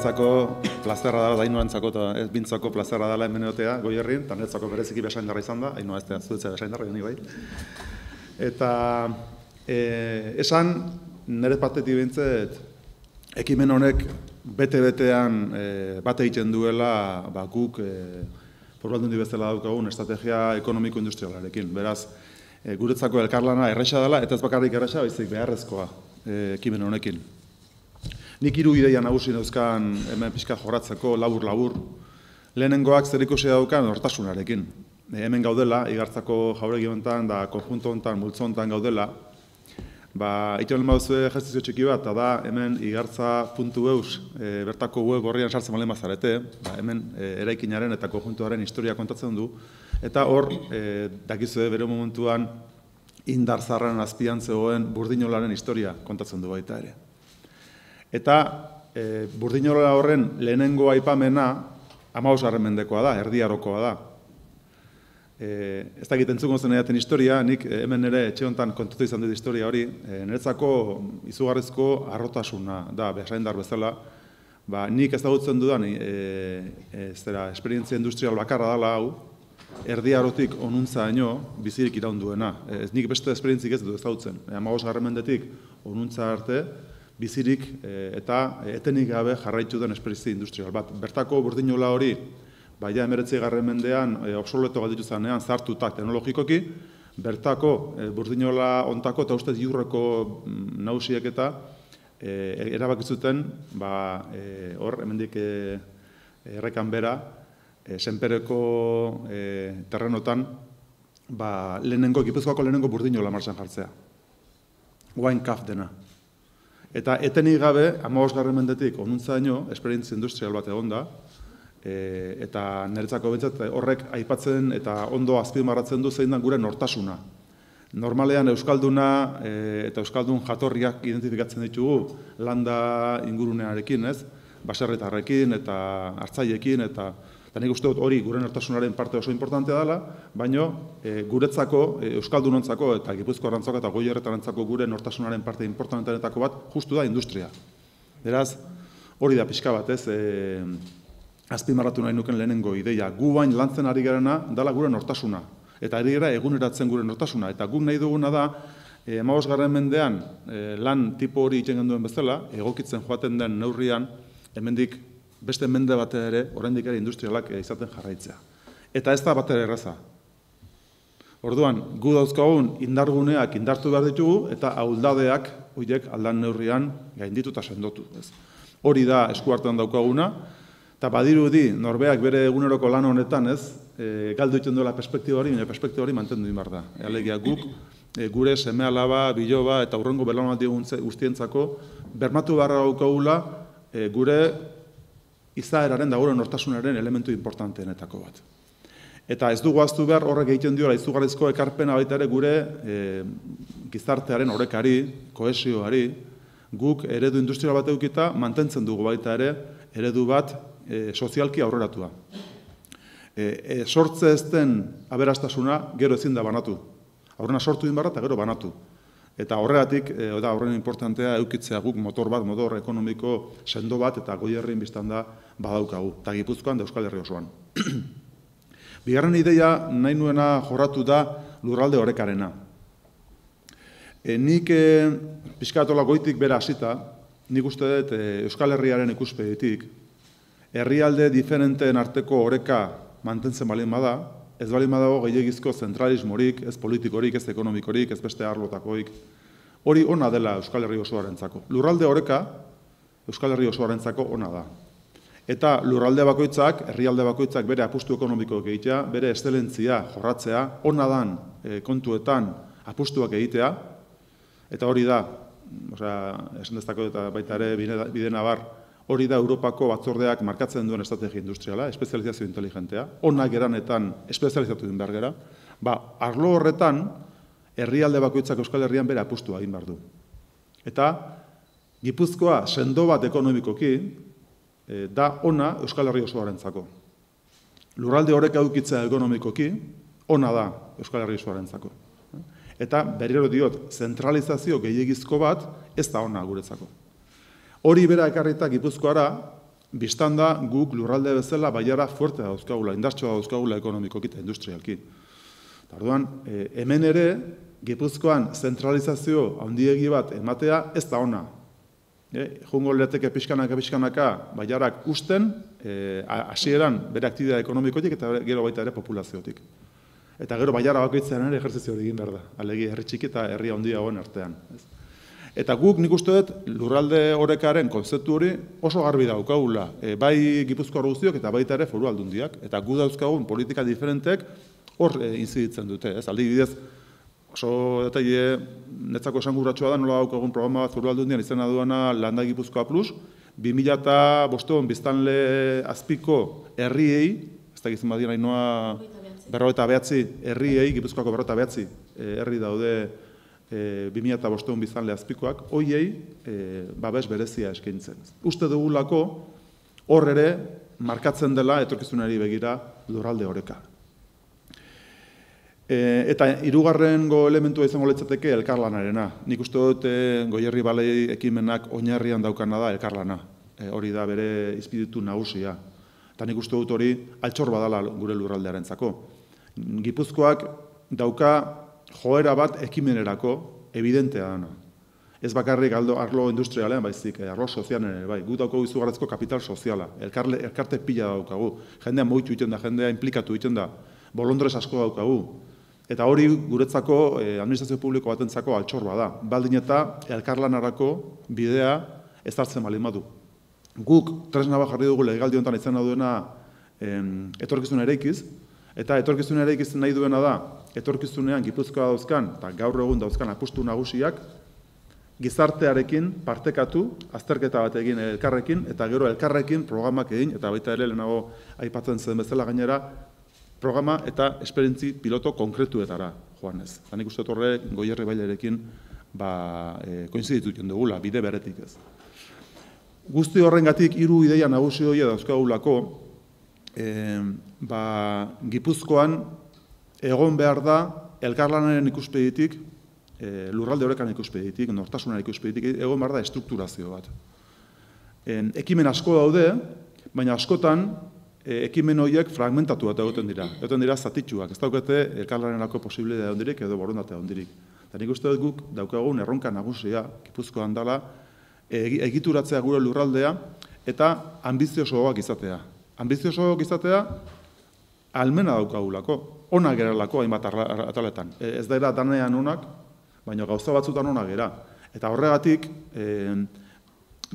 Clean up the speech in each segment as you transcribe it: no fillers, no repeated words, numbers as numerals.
Niretzako plazerra dela, Ainuarentzako eta ez bintzako plazerra dela hemen egotea Goierrin, eta niretzako bereziki besaindarra izan da, Ainua ez da zuetzea besaindarra, ni bai. Eta esan, nire partetik behintzat, ekimen honek bete-betean bat egiten duela guk Foru-Aldundi bezala daukagun estrategia ekonomiko-industrialarekin. Beraz, guretzako elkarlana erresa dela, eta ez bakarrik erresa, baizik beharrezkoa ekimen honekin. Nik 3 ideia nagusi dauzkan hemen pixka jorratzeko labur-labur. Lehenengoak zerikusia daukan nortasunarekin. Hemen gaudela, Igartzako jauregi honetan, da konjunto honetan, multzo honetan gaudela. Iten lehen baduzue ejertzizio txiki bat, eta da hemen igartza.eus bertako web horrian sartzen balen bazarete, hemen eraikinaren eta konjuntuaren historia kontatzen du, eta hor, dakizue bere momentuan Indar Zaharraren azpian zegoen Burdinolaren historia kontatzen du baita ere. Eta Burdinola horren lehenengo aipamena 15. mendekoa da, Erdi Arokoa da. Ez dakit entzuko zen edaten historia, nik hemen ere etxe honetan kontatu izan dut historia hori, niretzako izugarrizko harrotasuna da, besaindar bezala, nik ezagutzen dudan esperientzia industrial bakarra dela hau, Erdi Arotik onuntzaino bizirik iraun duena. Nik beste esperientzik ez dut ezagutzen. 15. mendetik onuntza arte, bizirik eta etenik gabe jarraitu den esperientzia industrial bat. Bertako Burdinola hori, ja 19. mendean obsoleto galditu zanean zartutak teknologikoki, bertako Burdinola ontako eta ustez Iurreko nagusiek eta erabakizuten hor, hemendik errekan bera, Senpereko terrenotan Gipuzkoako lehenengo Burdinola martxan jartzea. Wine Caf dena. Eta etenik gabe, 15. mendetik onuntzaino, esperientzia industrial bat egon da, eta niretzako behintzat horrek aipatzen eta ondo azpimarratzen du zein da gure nortasuna. Normalean Euskalduna eta Euskaldun jatorriak identifikatzen ditugu landa ingurunearekin, ez? Baserritarrekin eta hartzaileekin eta nik uste dut hori gure nortasunaren parte oso importantea dela, baina guretzako, Euskaldunontzako eta Gipuzkoarentzako eta Goierretarentzako gure nortasunaren parte importanteanetako bat justu da industria. Beraz, hori da pixka bat, ez? Azpimarratu nahi nuken lehenengo ideia. Gu bain lantzen ari garena dela gure nortasuna. Eta ari gara eguneratzen gure nortasuna. Eta guk nahi duguna da, 15. mendean lan tipo hori egiten genduen bezala, egokitzen joaten den neurrian, hemendik beste mende batea ere, oraindik ere industrialak izaten jarraitzea. Eta ez da batera erraza. Orduan, gu dauzkagun indarguneak indartu behar ditugu, eta ahuldadeak horiek aldan neurrian gainditu eta sendotu. Hori da eskuartean daukaguna, eta badirudi norbeak bere eguneroko lan honetan galdu egiten duela perspektiba hori, baina perspektiba hori mantendu behar da. Alegia guk, gure seme-alaba, biloba eta hurrengo belaunaldi guztientzako bermatu beharra daukagula gure izaeraren da gure nortasunaren elementu importanteenetako bat. Eta ez dugu ahaztu behar horrek egiten diola izugarrizko ekarpena baita ere gure gizartearen orekari, kohesioari, guk eredu industrial bat edukita mantentzen dugu baita ere eredu bat sozialki aurreratua. Sortze ez den aberastasuna gero ezin da banatu. Aurrena sortu din barra eta gero banatu. Eta horregatik, horren importantea eukitzea guk motor ekonomiko sendo bat eta Goierrin biztan da badaukagu. Eta Gipuzkoan da Euskal Herri osoan. Bigarren ideia nahi nuena jorratu da lurralde orekarena. Nik pixkatola goitik bera hasita, nik uste dut Euskal Herriaren ikuspegitik, herrialde diferenteen arteko oreka mantentzen balin bada, ez balin badago gehiagizko zentralismorik, ez politikorik, ez ekonomikorik, ez beste arlotakoik. Hori ona dela Euskal Herri osoarentzako. Lurralde oreka Euskal Herri osoarentzako ona da. Eta lurralde bakoitzak, herrialde bakoitzak bere apustu ekonomikoak egitea, bere eszelentzia jorratzea, ona dan kontuetan apustuak egitea, eta hori da, esan dezako eta baita ere bide nabar, hori da Europako batzordeak markatzen duen estrategia industriala, espezializazio inteligentea, onak eranetan espezializatu din behar gara, arlo horretan, herrialde bakoitzak Euskal Herrian bere apustua egin behar du. Eta Gipuzkoa sendo bat ekonomikoki, da ona Euskal Herri osoarentzako. Lurralde horrek edukitzea ekonomikoki, ona da Euskal Herri osoarentzako. Eta berriro diot, zentralizazio gehiegizko bat ez da ona guretzako. Hori bera ekarrita Gipuzkoara, biztan da guk lurralde bezala Bailara fuerte dauzkagula, indartsua dauzkagula ekonomikoki eta industrialki. Orduan, hemen ere, Gipuzkoan zentralizazio handiegi bat ematea ez da ona. Jungo lirateke pixkanaka Bailarak usten, hasieran bere aktibitate ekonomikotik eta gero baita ere populaziotik. Eta gero Bailara bakoitzean ere ejerzizio hori egin behar da, alegi herri txiki eta herri handiagoen artean. Eta guk nik uste dut lurralde orekaren konzeptu hori oso garbi daukagula, bai Gipuzkoar guztiok eta baita ere foru aldundiak, eta gu dauzkagun politika diferentek hor inziditzen dute. Adibidez, oso detaile netzako esanguratsua da, nola daukagun programa bat foru aldundian izena duena Landa Gipuzkoa Plus, 2005 biztanle azpiko herriei, ez da gizien badien hainoa 59 herriei, Gipuzkoako 59 herri daude 2005 biztanle azpikoak, hoiei babes berezia eskaintzen. Uste dugulako hor ere markatzen dela etorkizunari begira lurralde oreka. Eta hirugarrengo elementua izango litzateke elkarlanarena. Nik uste dut Goierri Balei ekimenak oinarrian daukana da elkarlana. Hori da bere izpiritu nagusia. Eta nik uste dut hori altxor badala gure lurraldearentzako. Gipuzkoak dauka joera bat ekimenerako evidentea dana. Ez bakarrik arlo industrialean, baizik, arlo sozialen ere, bai. Gu daukagu izugarrizko kapital soziala, elkarte pila daukagu. Jendea moitu egiten da, jendea implikatu egiten da, bolondrez asko daukagu. Eta hori guretzako administrazio publiko batentzako altxor bada. Baldin eta elkarlanarako bidea ezartzen baldin badu. Guk tresna bat jarri dugu legealdi honetan izena duena etorkizuna eraikiz, eta etorkizuna eraikiz nahi duena da, etorkizunean Gipuzkoa dauzkan, eta gaur egun dauzkan apustu nagusiak, gizartearekin partekatu, azterketa bat egin elkarrekin, eta gero elkarrekin programak egin, eta baita ere lehenago aipatzen zen bezala gainera, programa eta esperientzi piloto konkretuetara joanez. Eta nik uste horre Goierri Bailarekin koinzidituten dugula, bide beretik ez. Guzti horrengatik 3 ideia nagusi horiek dauzkagulako, Gipuzkoan egon behar da elkarlanaren ikuspegitik, lurralde orekan ikuspegitik, nortasunaren ikuspegitik, egon behar da estrukturazio bat. Ekimen asko daude, baina askotan ekimen horiek fragmentatu bat egoten dira. Egoten dira zatitxuak, ez daukete elkarlanerako posibilitatea hondirik edo borondatea hondirik. Eta nik uste dut guk daukagun erronka nagusia Gipuzkoan dela egituratzea gure lurraldea eta ambiziosoak izatea. Ambiziosoak izatea almena daukagulako, onak geralako hainbat ataletan. Ez da danean onak, baina gauza batzutan onak gera. Eta horregatik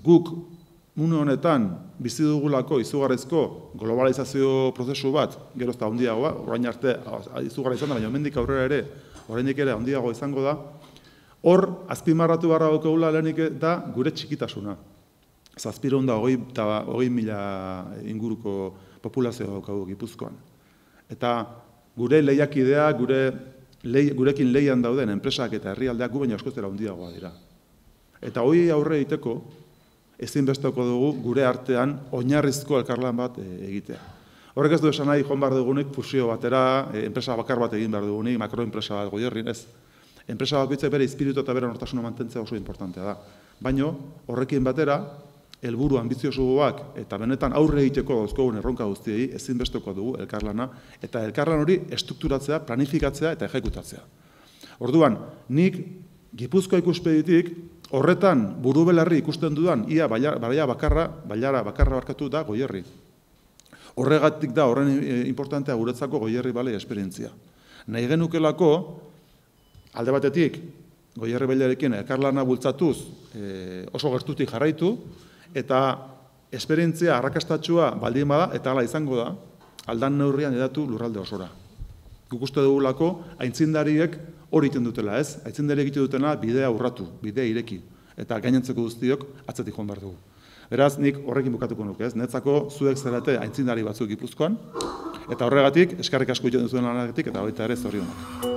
guk une honetan bizi dugulako izugarrizko globalizazio prozesu bat, gero ez da handiagoa, orain arte izugarra izan da, baina hemendik aurrera ere, oraindik ere handiago izango da, hor azpimarratu beharra daukagula lehenik da gure txikitasuna. 720.000 inguruko populazioa daukagu Gipuzkoan. Eta gure lehiakidea, gurekin lehian dauden enpresak eta herrialdeak gu baina askoz handiagoa dira. Eta hori aurre egiteko, ezinbesteko dugu gure artean oinarrizko elkarlan bat egitea. Horrek ez du esan nahi joan behar dugunik fusio batera, enpresa bakar bat egin behar dugunik, makroenpresa bat Goierrin, ez. Enpresa bakoitzak bere espiritu eta bere nortasuna mantentzea oso importantea da. Baina horrekin batera, helburu ambiziosoak eta benetan aurre egiteko dauzkogun erronka guztiei ezinbesteko dugu elkarlana, eta elkarlan hori estrukturatzea, planifikatzea eta ejekutatzea. Orduan, nik Gipuzkoa ikuspegitik horretan buru belarri ikusten dudan, ia Bailara bakarra barkatu da Goierri. Horregatik da horren importantea guretzako Goierri Balei esperientzia. Nahi genukelako, alde batetik, Goierri Bailarekin elkarlana bultzatuz oso gertutik jarraitu, eta esperientzia arrakastatsua baldin bada, eta hala izango da, aldan neurrian edatu lurralde osora. Guk uste dugulako, aintzindariek hori egiten dutela, ez? Aintzindariek egiten dutena bidea urratu, bidea ireki, eta gainentzeko guztiok atzetik joan behar dugu. Beraz, nik horrekin bukatuko nuke, ez? Netzako zuek zarete aintzindari batzuk Gipuzkoan, eta horregatik, eskerrik asko egiten duzuen lanagatik, eta baita ere zorionak.